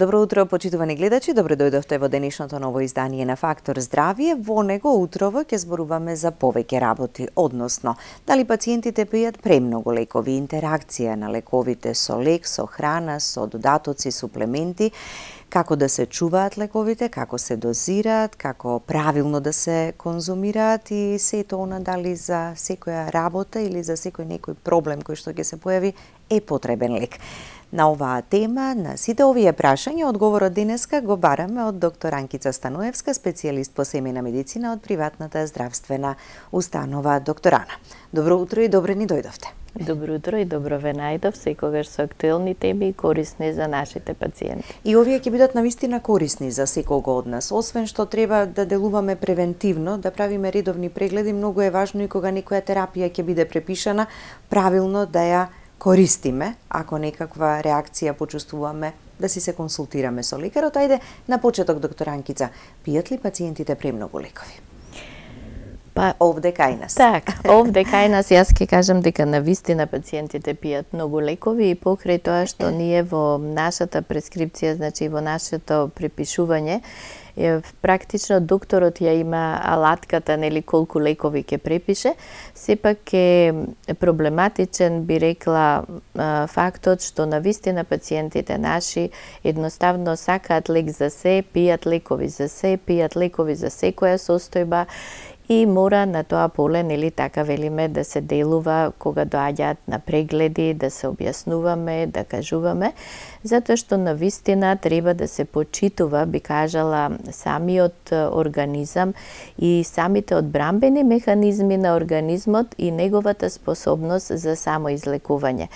Добро утро, почитувани гледачи, добро дојдовте во денешното ново издание на Фактор Здравје. Во него утрово ќе зборуваме за повеќе работи, односно дали пациентите пијат премногу лекови, интеракција на лековите со лек, со храна, со додатоци, суплементи, како да се чуваат лековите, како се дозираат, како правилно да се конзумираат и сето она дали за секоја работа или за секој некој проблем кој што ќе се појави е потребен лек. На оваа тема, на сите овие прашања, одговорот денеска го бараме од доктор Анкица Станоевска, специјалист по семејна медицина од приватната здравствена установа Доктор Ана. Добро утро и добре ни дојдовте. Добро утро и добро ве најдов, секогаш со актуелни теми и корисни за нашите пациенти. И овие ќе бидат навистина корисни за секого од нас. Освен што треба да делуваме превентивно, да правиме редовни прегледи, многу е важно и кога некоја терапија ќе биде препишана, правилно да ја користиме, ако некаква реакција почувствуваме, да си се консултираме со лекарот. Ајде, на почеток, доктор Анкица, пијат ли пациентите премногу лекови? Па, овде кај нас. Так, овде кај нас јас ќе кажам дека навистина пациентите пијат многу лекови и покрај тоа што ние во нашата прескрипција, значи во нашето препишување, практично докторот ја има алатката, нели, колку лекови ќе препише, сепак е проблематичен, би рекла, фактот што навистина пациентите наши едноставно сакаат лек за се, пијат лекови за се, пијат лекови за секоја состојба и мора на тоа поле, нели, така велиме, да се делува кога доаѓаат на прегледи, да се објаснуваме, да кажуваме, затоа што навистина треба да се почитува, би кажала, самиот организам и самите одбрамбени механизми на организмот и неговата способност за самоизлекување.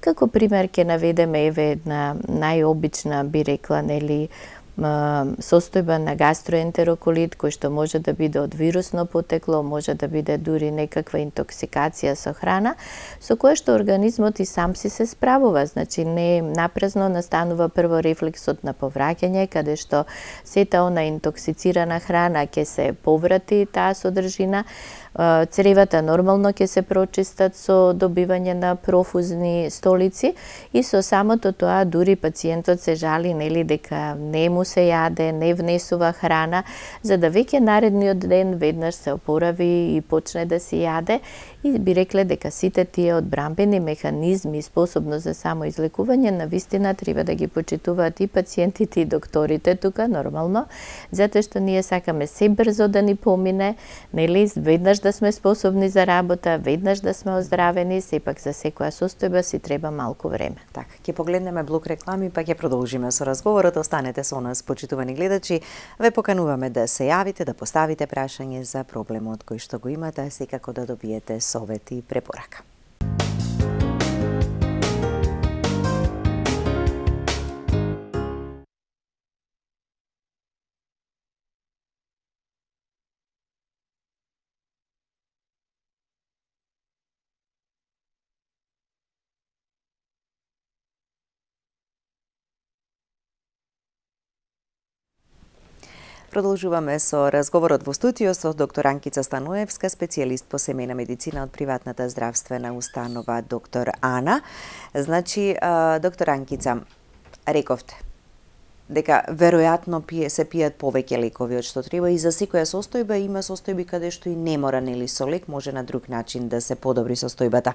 Како пример ќе наведеме еве една најобична, би рекла, нели, состојба на гастроентероколит, кој што може да биде од вирусно потекло, може да биде дури некаква интоксикација со храна, со кое што организмот и сам си се справува. Значи, не напразно настанува прво рефлексот на повраќање, каде што сета она интоксицирана храна ќе се поврати таа содржина, цревата нормално ќе се прочистат со добивање на профузни столици и со самото тоа дури пациентот се жали, нели, дека не му се јаде, не внесува храна, за да веќе наредниот ден веднаш се опорави и почне да си јаде. И би рекле дека сите тие одбрамбени механизми и способност за самоизлекување навистина треба да ги почитуваат и пациентите и докторите тука, нормално, затоа што ние сакаме се брзо да ни помине, нели, веднаш да сме способни за работа, веднаш да сме оздравени, сепак за секоја состојба си треба малку време. Така, ќе погледнеме блок реклами, па ќе продолжиме со разговорот. Останете со нас, почитувани гледачи. Ве покануваме да се јавите, да поставите прашање за проблемот кој што го имате, секако да добиете совет и препорака. Продолжуваме со разговорот во студио со доктор Анкица Станоевска, специјалист по семејна медицина од приватната здравствена установа Доктор Ана. Значи, доктор Анкица, рековте дека веројатно се пијат повеќе лекови од што треба и за секоја состојба има состојби каде што и не мора, нели, со лек може на друг начин да се подобри состојбата.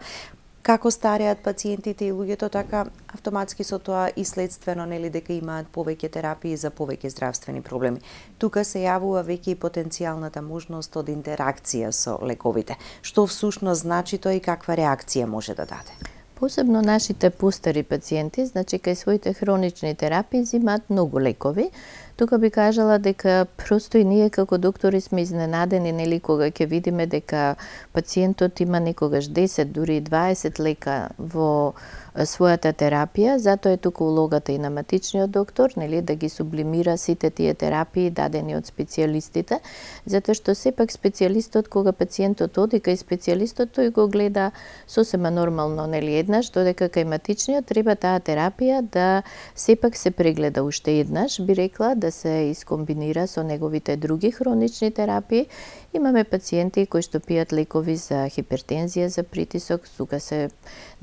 Како стареат пациентите и луѓето, така автоматски со тоа и следствено, нели, дека имаат повеќе терапии за повеќе здравствени проблеми. Тука се јавува веќе и потенцијалната можност од интеракција со лековите. Што всушност значи тоа и каква реакција може да даде? Посебно нашите постари пациенти, значи кај своите хронични терапии земаат многу лекови. Тука би кажала дека просто и ние како доктори сме изненадени, нели, кога ќе видиме дека пациентот има некогаш 10, дури 20 лека во својата терапија, затоа е тука улогата и на матичниот доктор, нели, да ги сублимира сите тие терапии дадени од специјалистите, затоа што сепак специјалистот, кога пациентот оди кај специјалистот, тој го гледа сосема нормално, нели, еднаш, додека кај матичниот треба таа терапија да сепак се прегледа уште еднаш, би рекла, да да се искомбинира со неговите други хронични терапии. Имаме пациенти кои што пијат лекови за хипертензија, за притисок, тука се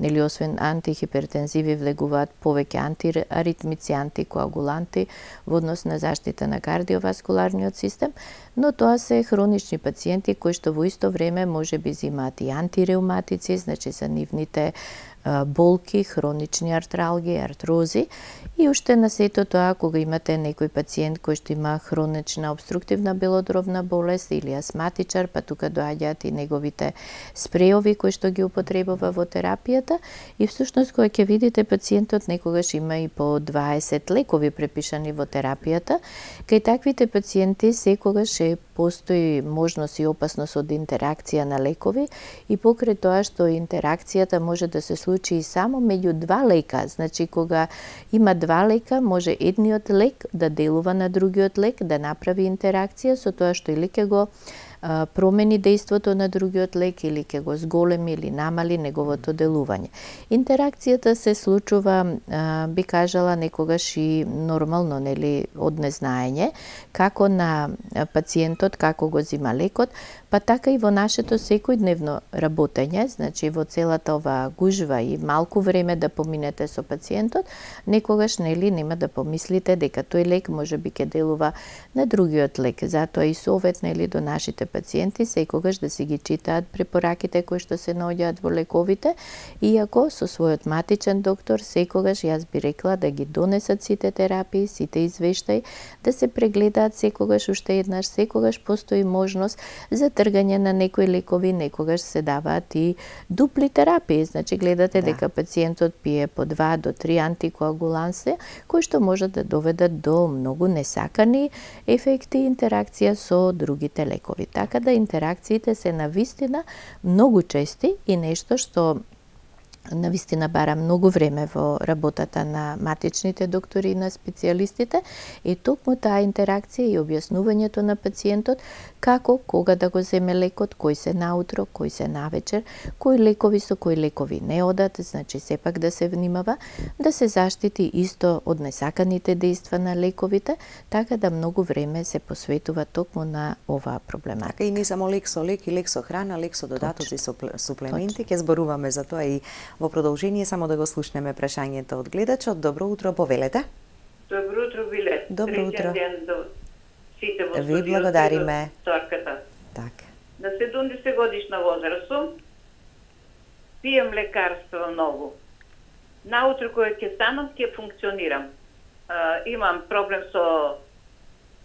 освен антихипертензиви влегуваат повеќе антиаритмици, антикоагуланти во однос на заштита на кардиоваскуларниот систем, но тоа се хронични пациенти кои што во исто време можеби имаат и антиреуматици, значи за нивните болки, хронични артралги, артрози, и уште на сето тоа кога имате некој пациент кој што има хронична обструктивна белодробна болест или астматичар, па тука доаѓаат и неговите спреови кои што ги употребува во терапијата, и всушност кога ќе видите пациентот некогаш има и по 20 лекови препишани во терапијата. Кај таквите пациенти секогаш постои можност и опасност од интеракција на лекови, и покрај тоа што интеракцијата може да се случи и само меѓу два лека, значи кога има два лека, може едниот лек да делува на другиот лек, да направи интеракција со тоа што или ќе го промени дејството на другиот лек или ќе го зголеми или намали неговото делување. Интеракцијата се случува, би кажала, некогаш и нормално, нели, од незнаење, како на пациентот, како го зима лекот, па така и во нашето секојдневно работење, значи во целата оваа гужва и малку време да поминете со пациентот, некогаш, нели, нема да помислите дека тој лек можеби ќе делува на другиот лек. Затоа и совет, нели, до нашите пациенти секогаш да си ги читаат препораките кои што се наоѓаат во лековите, иако со својот матичен доктор секогаш јас би рекла да ги донесат сите терапии, сите извештаи, да се прегледаат секогаш уште еднаш, секогаш постои можност за тргање на некои лекови, некогаш се даваат и дупли терапии, значи гледате дека пациентот пие по 2 до 3 антикоагуланси, кои што можат да доведат до многу несакани ефекти и интеракција со другите лекови. Така да интеракциите се навистина многу чести и нешто што навистина бара многу време во работата на матичните доктори и на специјалистите, и токму таа интеракција и објаснувањето на пациентот како, кога да го земе лекот, кој се наутро, кој се навечер, кои лекови со кои лекови не одат, значи сепак да се внимава, да се заштити исто од несаканите дејства на лековите, така да многу време се посветува токму на оваа проблематика. Така и не само лек со лек и лек со храна, лек со додатоци, со суплементи, ќе зборуваме за тоа и во продолжение, само да го слушнеме прашањето од гледачот. Добро утро, повелете. Добро утро, Биле. Добро утро. Ден до сите во Ви благодариме. Торката. Така. На 70 годишна возраст сум, пием лекарства многу. Наутро кога ќе станам, ќе функционирам. Имам проблем со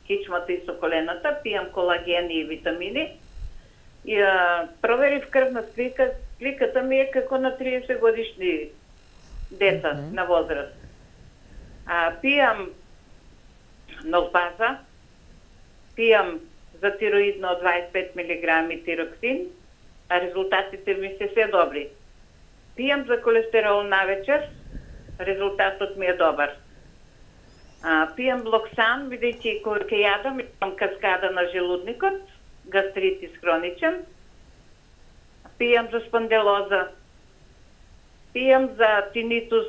кичмата и со колената, пием колагени и витамини. И проверив крвна слика, сликата ми е како на 30 годишни деца на возраст. Пијам нолпаза, пијам за тироидно 25 мг тироксин, а резултатите ми се добри. Пијам за колестерол навечер, резултатот ми е добар. Пијам Локсан, бидејќи кога ќе јадам, имам каскада на желудникот, гастритис хроничен. Пијам за спонделоза, пијам за тинитус,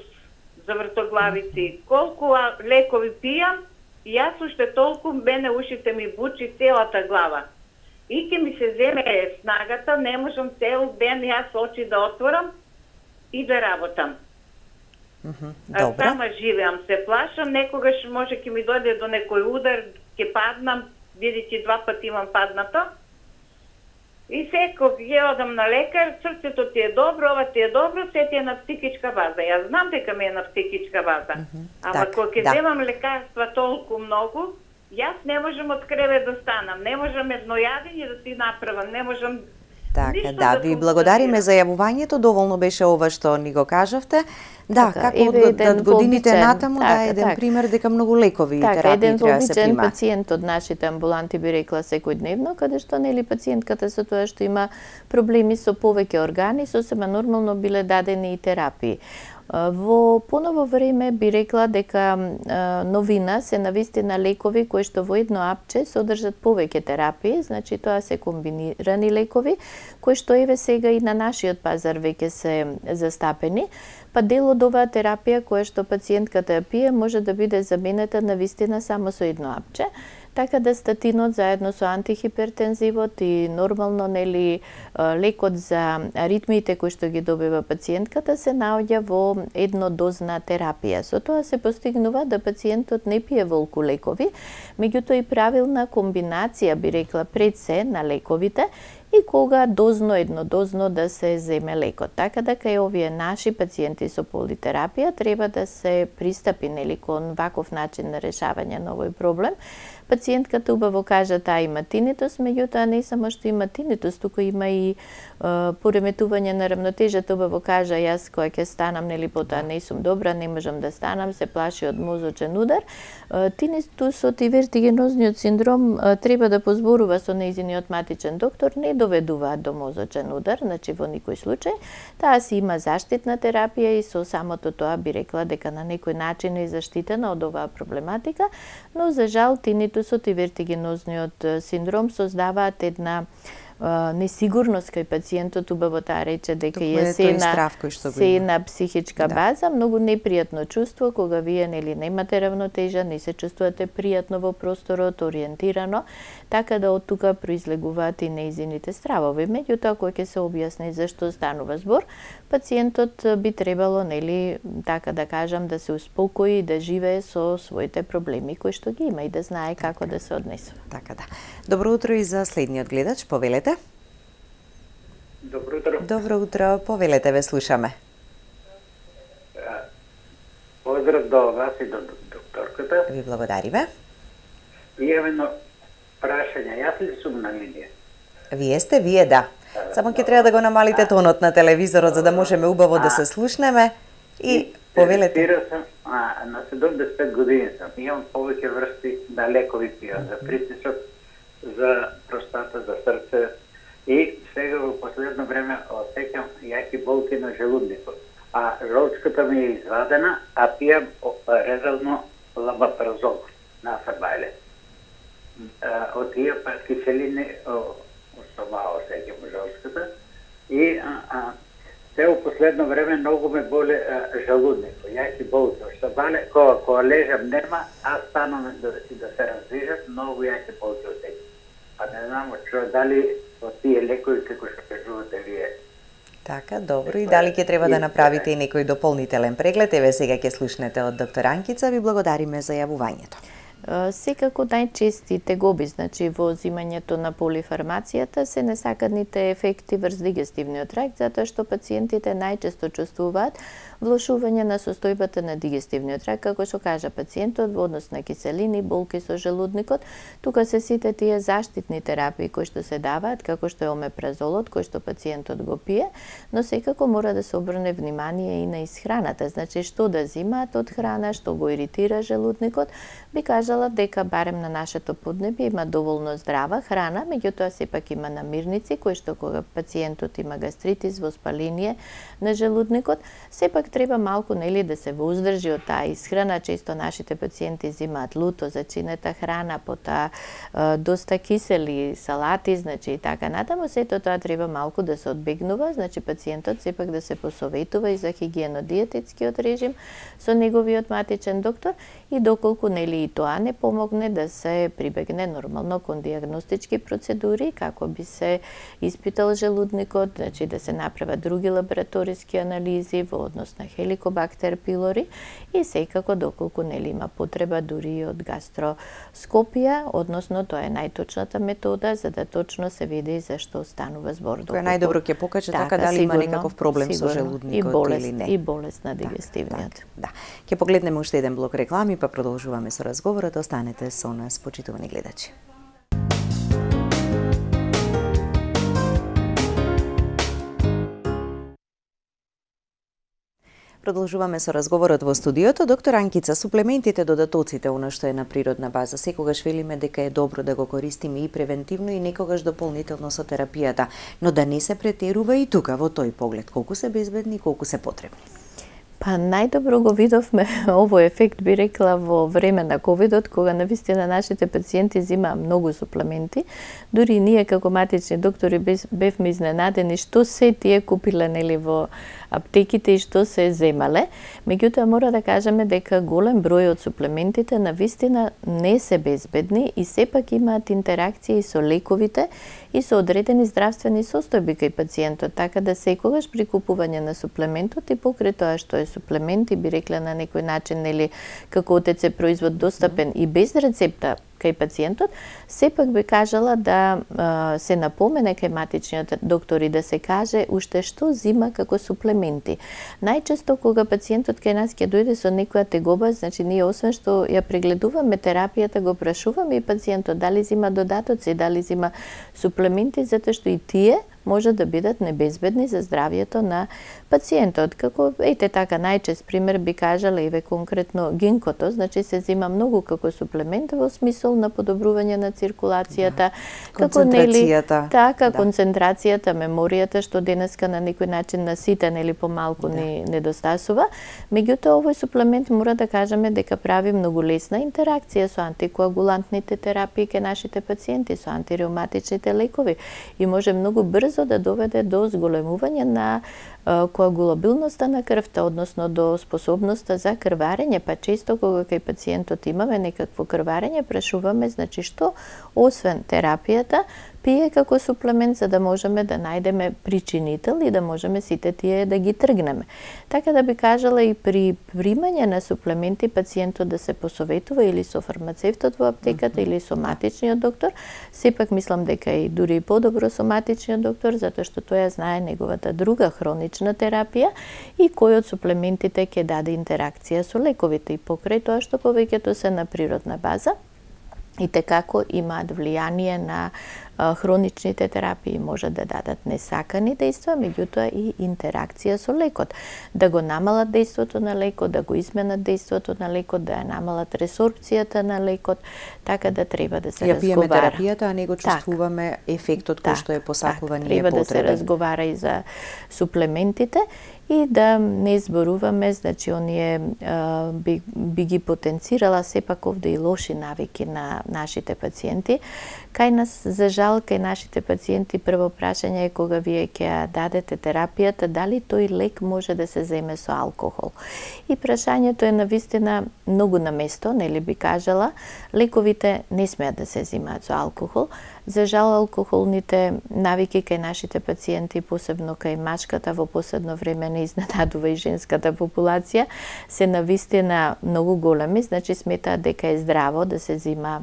за вртоглавици. Колку лекови пијам, јас уште толку мене ушите ми бучи целата глава. И ќе ми се земе снагата, не можам цел ден јас очи да отворам и да работам. Сама живеам, се плашам, некогаш може ќе ми дојде до некој удар, ќе паднам, бидејќи 2 пати имам паднато. И секој ќе одам на лекар, срцето ти е добро, ова ти е добро, се ти е на психичка база. Јас знам дека ми е на психичка база. Ама кога ќе земам лекарства толку многу, јас не можам од кревет да станам, не можам еднојадење да си направам, не можам. Така, да, ви благодариме за јавувањето, доволно беше ова што ни го кажавте. Да, како од годините натаму, да, еден пример дека многу лекови и терапии треба да се примаат. Еден пациент од нашите амбуланти би рекла секојдневно, каде што нели пациентката со тоа што има проблеми со повеќе органи, сосема нормално биле дадени и терапии. Во поново време би рекла дека новина се навистина лекови кои што во едно апче содржат повеќе терапии, значи тоа се комбинирани лекови кои што еве сега и на нашиот пазар веќе се застапени, па дел од оваа терапија која што пациентката ја пие може да биде заменета навистина само со едно апче. Така да статинот заедно со антихипертензивот и нормално лекот за аритмиите кои што ги добива пациентката се наоѓа во еднодозна терапија. Со тоа се постигнува да пациентот не пие волку лекови, меѓутоа и правилна комбинација би рекла пред се на лековите и кога еднодозно да се земе лекот. Така да кај овие наши пациенти со политерапија треба да се пристапи кон ваков начин на решавање на овој проблем. Пациентката убаво кажа таа има тинитус, меѓутоа не само што има тинитус, туку има и пореметување на рамнотежата. Убаво кажа јас кога ќе станам потоа не сум добра, не можам да станам, се плаши од мозочен удар. Тинитусот и вертигенозниот синдром треба да позборува со нејзиниот матичен доктор, не доведуваат до мозочен удар, значи во никој случај. Таа си има заштитна терапија и со самото тоа би рекла дека на некој начин е заштитена од оваа проблематика, но за жал тинитусот и вертигенозниот синдром создаваат една несигурност кај пациентот. Убаво таа рече дека е се на психичка база, многу непријатно чувство кога вие немате равнотежа, не се чувствувате пријатно во просторот, ориентирано, така да од тука произлегуваат и нејзините стравови. Меѓутоа кога ќе се објасни зашто станува збор, пациентот би требало така да кажам да се успокои и да живее со своите проблеми кои што ги има и да знае како да се однесува. Така да. Добро утро и за следниот гледач, повелете. Добро утро. Добро утро, повелете, ве слушаме. Поздрав до вас и до докторката. Ви благодариме. И едно прашање, јас ли сум на линија? Вие да. Само ќе треба да го намалите тонот на телевизорот за да можеме убаво да се слушнеме и повелете. На 75 години сум. Имам повеќе врсти на лекови пијам за притисок, за простата, за срце и сега во последно време осеќам јаки болки на желудникот. А жолчката ми е извадена, а пијам редовно лабапразол на фабайле. Од тие киселини стомао осеќам жолчката и се во последно време многу ме боле желудникот, јаки болки. Што бале, кога лежам нема, а станам да се раздвижам, многу јаки болки осеќам. А не знам дали од тие лекови како што кажувате вие. Така, добро. И дали ќе треба да направите и некој дополнителен преглед? Еве сега ќе слушнете од доктор Анкица. Ви благодариме за јавувањето. Секако најчести тегоби, значи во земањето на полифармацијата се несаканите ефекти врз дигестивниот тракт, затоа што пациентите најчесто чувствуваат влошување на состојбата на дигестивниот тракт, како што кажа пациентот, во однос на киселини, болки со желудникот. Тука се сите тие заштитни терапии кои што се даваат, како што е омепразолот, кој што пациентот го пие, но секако мора да се обрне внимание и на исхраната, значи што да земаат од храна, што го иритира желудникот. Би кажала дека барем на нашето поднебје има доволно здрава храна, меѓутоа сепак има намирници кои што кога пациентот има гастритис, воспаление на желудникот, сепак треба малку да се воздржи од таа исхрана. Често нашите пациенти земаат луто, зачинета храна, потоа доста кисели салати, значи и така натаму, сето тоа треба малку да се одбегнува, значи пациентот сепак да се посоветува и за хигиено-диететскиот режим со неговиот матичен доктор и доколку и тоа не помогне да се прибегне нормално кон диагностички процедури, како би се испитал желудникот, значи да се направат други лабораториски анализи во однос на Helicobacter pylori и секако доколку има потреба дури од гастроскопија, односно тоа е најточната метода за да точно се види зашто станува збор. Кој најдобро ќе покаже така дали има некаков проблем со желудникот или не. И болест на дигестивниот. Да. Ќе погледнеме уште еден блок реклами, па продолжуваме со разговорот. Останете со нас, почитувани гледачи. Продолжуваме со разговорот во студиото. Доктор Анкица, суплементите, додатоците, она што е на природна база, секогаш велиме дека е добро да го користиме и превентивно и некогаш дополнително со терапијата, но да не се претерува и тука во тој поглед. Колку се безбедни и колку се потребни? Па најдобро го видовме овој ефект, би рекла, во време на ковидот, кога навистина нашите пациенти земаа многу суплементи. Дури ние како матични доктори бевме изненадени што се тие купиле нели во аптеките и што се земале. Меѓутоа мора да кажеме дека голем број од суплементите навистина не се безбедни и сепак имаат интеракции со лековите и со одредени здравствени состојби кај пациентот, така да секогаш при купување на суплементот и покрај тоа што е суплемент и би рекла на некој начин нели како ОТЦ производ достапен и без рецепта кај пациентот, сепак би кажала да се напомене кај матичниот доктор и да се каже уште што зима како суплементи. Најчесто кога пациентот кај нас ќе дојде со некоја тегоба, значи ние освен што ја прегледуваме терапијата, го прашуваме и пациентот дали зима додатоци, дали зима суплементи, затоа што и тие може да бидат небезбедни за здравието на пациентот. Како ете така најчест пример би кажала еве конкретно гинкото, значи се зима многу како суплемент во смисол на подобрување на циркулацијата, како нели така концентрацијата, меморијата што денеска на некој начин на сите нели помалку ни недостасува. Меѓутоа овој суплемент мора да кажеме дека прави многу лесна интеракција со антикоагулантните терапии кај нашите пациенти, со антиреуматичните лекови и може многу брзо да доведе до зголемување на коагулабилноста на крвта, односно до способноста за крварење, па често кога кај пациентот имаме некакво крварење, прашуваме значи што освен терапијата пие како суплемент за да можеме да најдеме причинител и да можеме сите тие да ги тргнеме. Така да би кажала и при примање на суплементи пациентот да се посоветува или со фармацевтот во аптеката или со матичниот доктор. Сепак мислам дека и дури и подобро со матичниот доктор, затоа што тој знае неговата друга хронична терапија и кој од суплементите ќе даде интеракција со лековите и покрај тоа што повеќето се на природна база и tekako имаат влијание на хроничните терапии, може да дадат несакани дејства, меѓутоа и интеракција со лекот. Да го намалат дејството на лекот, да го изменат дејството на лекот, да ја намалат ресорбцијата на лекот, така да треба да се разговара. Ја пиеме терапијата, а не го чувствуваме ефектот кој што е посакуван и е потребен. Треба да се разговара и за суплементите и да не зборуваме, значи оние би ги потенцирала сепак овде и лоши навики на нашите пациенти. Кај нас, за жал, кај нашите пациенти прво прашање е кога вие ќе дадете терапијата, дали тој лек може да се земе со алкохол. И прашањето е навистина многу на место, нели би кажала, лековите не смеат да се земаат со алкохол. За жал, алкохолните навики кај нашите пациенти, посебно кај мачката, во последно време не изненадува и женската популација, се навистина многу големи, значи сметаат дека е здраво да се зема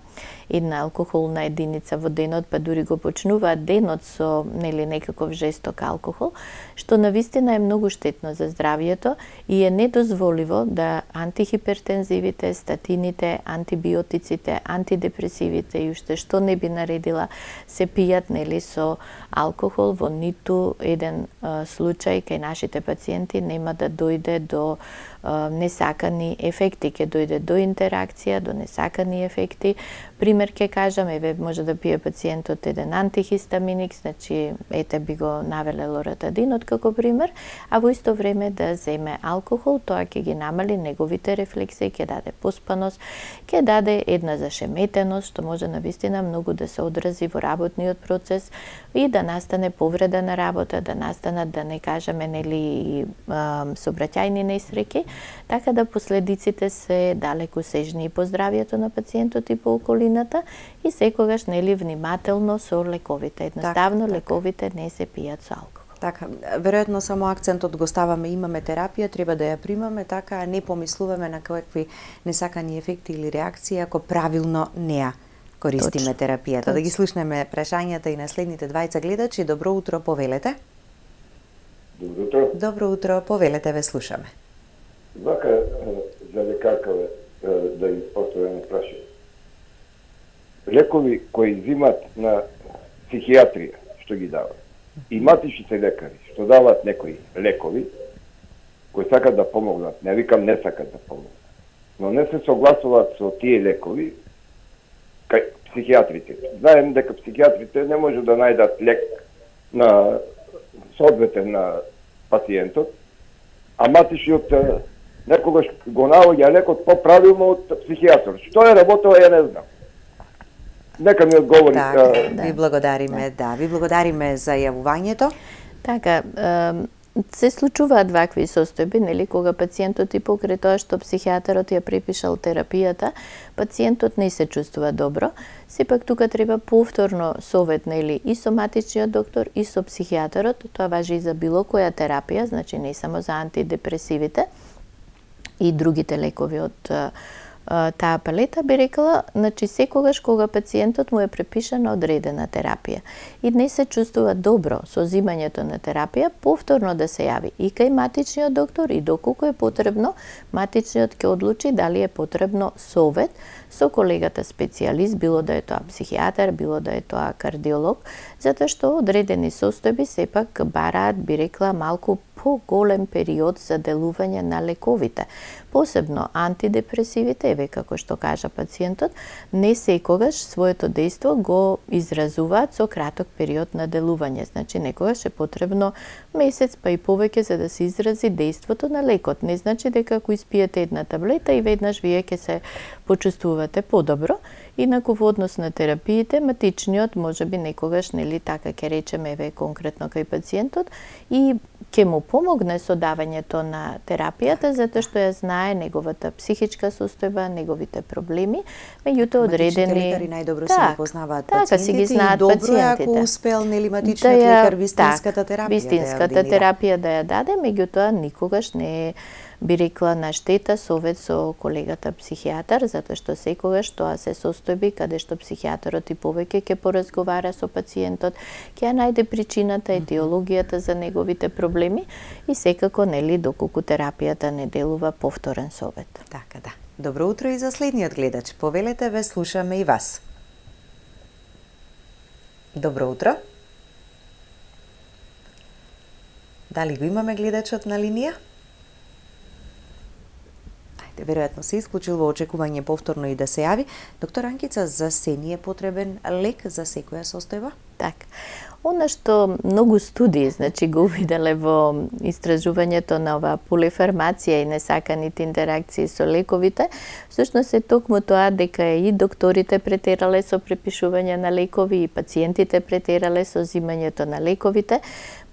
една алкохолна единица во денот, па дури го почнуваат денот со нели некаков жесток алкохол, што навистина е многу штетно за здравието и е недозволиво да антихипертензивите, статините, антибиотиците, антидепресивите и уште што не би наредила се пијат нели со алкохол. Во ниту еден случај кај нашите пациенти нема да дојде до несакани ефекти, ќе дојде до интеракција, до несакани ефекти. Пример ќе кажам, еве може да пие пациентот еден антихистаминик, значи ете би го навеле лоратадинот како пример, а во исто време да земе алкохол, тоа ќе ги намали неговите рефлекси, ќе даде поспаност, ќе даде една зашеметеност, што може навистина многу да се одрази во работниот процес и да настане повреда на работа, да настанат, да не кажеме нели сообраќајни несреќи, така да последиците се далеку сежни и по здравието на пациентот и по околината и секогаш нели внимателно со лековите. Едноставно лековите не се пијат со алкохол. Така, веројатно само акцентот го ставаме, имаме терапија, треба да ја примаме, така а не помислуваме на какви несакани ефекти или реакции ако правилно не ја користиме терапијата. Да ги слушнеме прашањата и на следните двајца гледачи. Добро утро, повелете. Добро утро. Добро утро, повелете, ве слушаме. Вака за лекарка да им поставам прашање. Лекови кои взимат на психијатрија, што ги дават, и матичните лекари, што дават некои лекови, кои сакат да помогнат, не викам не сакат да помогнат, но не се согласуваат со тие лекови, кај психијатрите. Знаем дека психијатрите не може да најдат лек на соодветен на пациентот, а матичниот некогаш го наоѓа лекот поправилно од психијатар. Што е работело, ја не знам. Нека ми одговори. Ви благодариме, ви благодариме за јавувањето. Така, се случуваат вакви состојби, нели, кога пациентот и покрај тоа што психијатарот ја препишал терапијата, пациентот не се чувствува добро. Сепак тука треба повторно совет, нели, и со матичниот доктор и со психијатарот. Тоа важи и за било која терапија, значи не само за антидепресивите и другите лекови од таа палета, би рекла, значи секогаш кога пациентот му е препишана одредена терапија и не се чувствува добро со земањето на терапија, повторно да се јави и кај матичниот доктор и доколку е потребно, матичниот ќе одлучи дали е потребно совет со колегата специјалист, било да е тоа психијатар, било да е тоа кардиолог, затоа што одредени состојби сепак бараат, би рекла, малку поголем период за делување на лековите. Посебно антидепресивите, еве како што кажа пациентот, не секогаш своето дејство го изразуваат со краток период на делување. Значи некогаш е потребно месец па и повеќе за да се изрази дејството на лекот. Не значи дека ако испиете една таблета и веднаш вие ќе се почувствувате подобро. Инаку во однос на терапиите, матичниот можеби некогаш, нели, така ќе речеме, еве конкретно кај пациентот, и ќе му помогне со давањето на терапијата, затоа што ја знае неговата психичка состојба, неговите проблеми, меѓутоа одредени... Матичните лекари најдобро си ги познаваат пациентите ги знаат и добро пациентите. Ако успел, нели, матичниот лекар вистинската терапија вистинската терапија да ја даде, меѓутоа никогаш не е, би рекла, на штета совет со колегата психијатар, затоа што секогаш тоа се состојби каде што психијатарот и повеќе ќе поразговара со пациентот, ќе ја најде причината, етиологијата за неговите проблеми и секако, нели, доколку терапијата не делува, повторен совет. Така, да. Добро утро и за следниот гледач. Повелете, ве слушаме и вас. Добро утро. Дали го имаме гледачот на линија? Веројатно се исклучил во очекување повторно и да се јави. Доктор Анкица, за се ни е потребен лек за секоја состојба? Така. Она што многу студии, значи, го увиделе во истражувањето на оваа полифармација и несаканите интеракции со лековите, всушност е токму тоа дека и докторите претерале со препишување на лекови и пациентите претерале со земањето на лековите,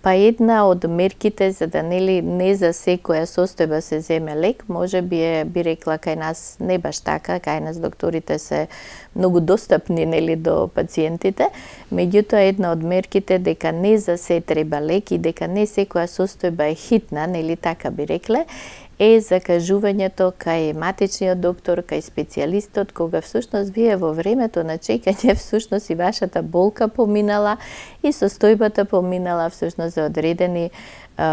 па една од мерките за да не за секоја состојба се земе лек, може би рекла кај нас не баш така, кај нас докторите се многу достапни до пациентите, меѓутоа една од мерките дека не за се треба лек и дека не секоја состојба е хитна, така би рекле, е закажувањето кај матичниот доктор, кај специјалистот, кога всушност вие во времето на чекање всушност и вашата болка поминала и состојбата поминала всушност за одредени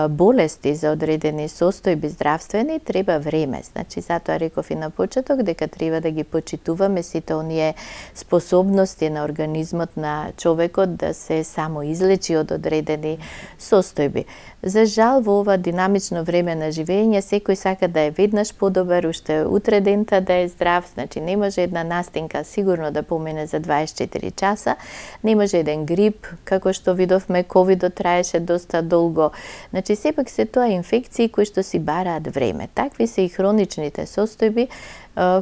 болести, за одредени состојби здравствени, треба време. Значи, затоа реков и на почеток дека треба да ги почитуваме сите оние способности на организмот на човекот да се самоизлечи од одредени состојби. За жал, во ова динамично време на живење, секој сака да е веднаш подобар, уште утре дента да е здрав, значи не може една настинка сигурно да помине за 24 часа, не може еден грип, како што видовме, ковидот траеше доста долго. Значи, сепак се тоа инфекции кои што си бараат време. Такви се и хроничните состојби.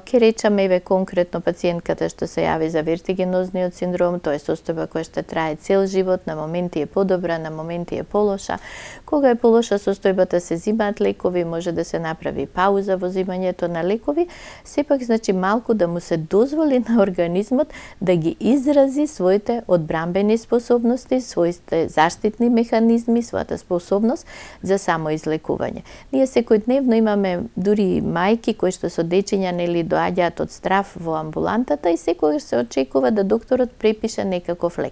Ке речеме, еве конкретно пациентката што се јави за вертигенозниот синдром, тоа е состојба која што трае цел живот, на моменти е подобра, на моменти е полоша. Кога е полоша состојбата се зимаат лекови, може да се направи пауза во зимањето на лекови, сепак значи малку да му се дозволи на организмот да ги изрази своите одбранбени способности, своите заштитни механизми, својата способност за самоизлекување. Ние секојдневно имаме дури мајки кои што со дечиња или доаѓаат од страв во амбулантата и секогаш се очекува да докторот препише некаков лек.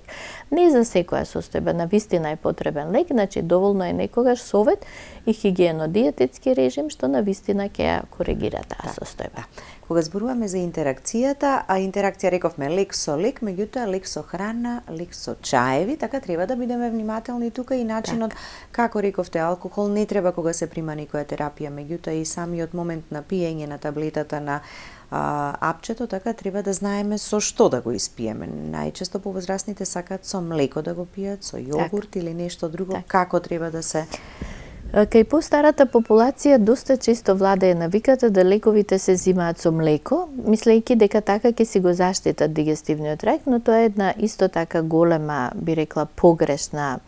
Не за секоја состојба навистина е потребен лек, значи доволно е некогаш совет и хигиено-диететски режим што навистина ќе ја коригира таа состојба. Кога зборуваме за интеракцијата, а интеракција рековме лек со лек, меѓутоа лек со храна, лек со чаеви, така треба да бидеме внимателни тука и начинот, како рековте, алкохол не треба кога се прима некоја терапија, меѓутоа и самиот момент на пиење на таблетата на апчето, така треба да знаеме со што да го испиеме. Најчесто повозрастните сакаат со млеко да го пијат, со јогурт или нешто друго, како треба да се Кај постарата популација доста често владее навиката да лековите се зимаат со млеко, мислејќи дека така ќе си го заштитат дигестивниот тракт, но тоа е една исто така голема, би рекла, погрешна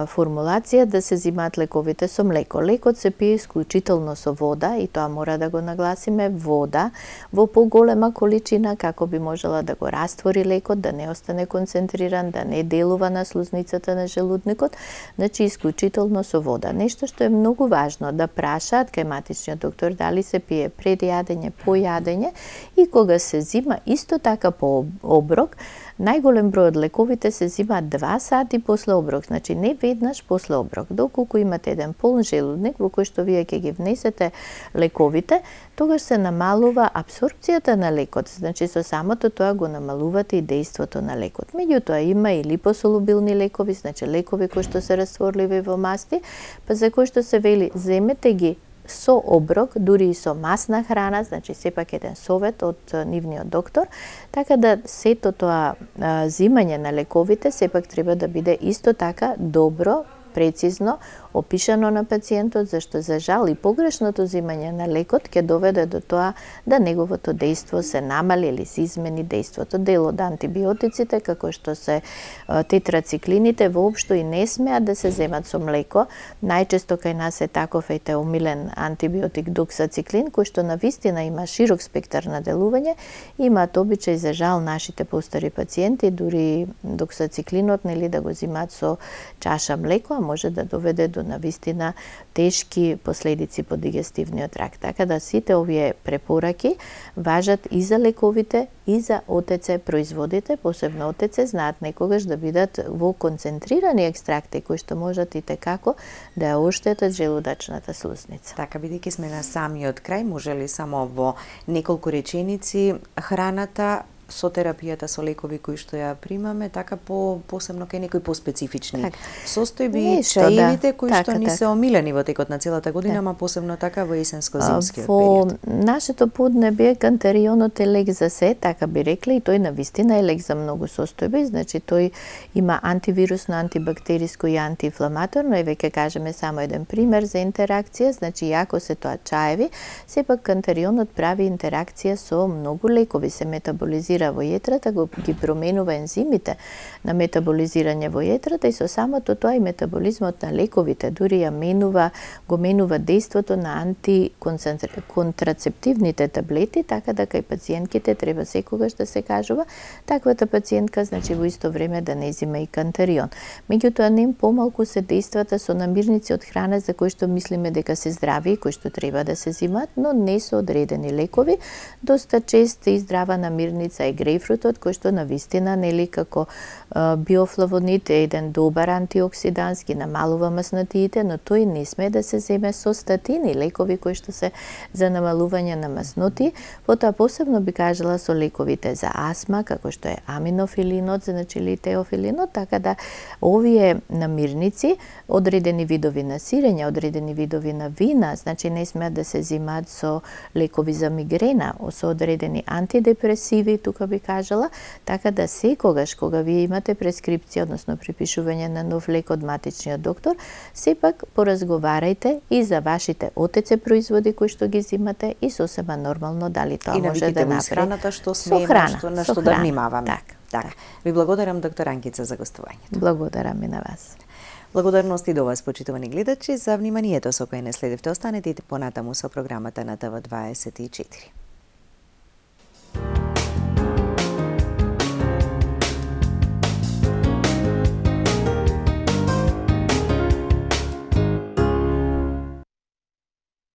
формулација да се зимаат лековите со млеко. Лекот се пие исклучително со вода и тоа мора да го нагласиме, вода во поголема количина како би можела да го раствори лекот, да не остане концентриран, да не делува на слузницата на желудникот, значи исклучително со вода. Нешто што е многу важно да прашаат кај матичниот доктор дали се пие пред јадење, по јадење и кога се зима исто така по оброк. Најголем број од лековите се зимаат 2 сати после оброк, значи не веднаш после оброк. Доколку имате еден полн желудник во кој што вие ќе ги внесете лековите, тогаш се намалува абсорпцијата на лекот, значи со самото тоа го намалувате и дејството на лекот. Меѓутоа има и липосолубилни лекови, значи лекови кои што се растворливи во масти, па за кои што се вели земете ги со оброк, дури и со масна храна, значи сепак еден совет од нивниот доктор, така да сето тоа зимање на лековите сепак треба да биде исто така добро, прецизно опишано на пациентот, зашто за жал и погрешното зимање на лекот ќе доведе до тоа да неговото дејство се намали или се измени дејството. Дел од антибиотиците, како што се тетрациклините, воопшто и не смеат да се земат со млеко. Најчесто кај нас е таков омилен антибиотик доксациклин, кој што навистина има широк спектар на делување, имаат обичај за жал нашите постари пациенти, дури доксациклинот нели да го зимаат со чаша млеко, а може да доведе до навистина тешки последици по дигестивниот тракт. Така да сите овие препораки важат и за лековите и за ОТЦ производите, посебно ОТЦ знаат некогаш да бидат во концентрирани екстракти кои што можат и текако да ја оштетат желудачната слузница. Така, бидејќи сме на самиот крај, може ли само во неколку реченици храната со терапијата со лекови кои што ја примаме, така посебно кај некои поспецифични состојби, чаевите кои што ни се омилени во текот на целата година, ама посебно така во есенско-зимскиот период. Во нашето поднебие кантерионот е лек за се, така би рекле, и тој навистина е лек за многу состојби, значи тој има антивирусно, антибактериско и антиинфламаторно, и веќе кажеме само еден пример за интеракција, значи иако се тоа чаеви, сепак кантерионот прави интеракција со многу лекови, се метаболизира во јетрата, ги променува ензимите на метаболизирање во јетрата и со самото тоа и метаболизмот на лековите, дури ја го менува дејството на антиконтрацептивните таблети, така да кај пациентките треба секогаш да се кажува таквата пациентка, значи во исто време да не зима и кантерион. Меѓутоа не помалку се дејствата со намирници од храна за кои што мислиме дека се здрави и кои што треба да се зимаат, но не се одредени лекови. Доста често и здрава намирница е грејпфрутот, кој што навистина нели како биофлавонид е еден добар антиоксиданс, ги намалува маснотиите, но тој не сме да се земе со статини, лекови кои што се за намалување на масноти. Потоа посебно би кажала со лековите за астма, како што е аминофилинот, значи или теофилинот, така да овие намирници, одредени видови на сирење, одредени видови на вина, значи не смеат да се земаат со лекови за мигрена, со одредени антидепресиви, тука би кажала, така да секогаш кога вие имате прескрипција, односно припишување на нов лек од матичниот доктор, сепак поразговарајте и за вашите ОТЦ производи кои што ги зимате и сосема нормално дали тоа може да направи. И храната што смееме, на што да внимаваме. Така. Ви благодарам, доктор Анкица, за гостувањето. Благодарам и на вас. Благодарности до вас, почитувани гледачи, за вниманието со кое не следевте. Останете и понатаму со програмата на ТВ24.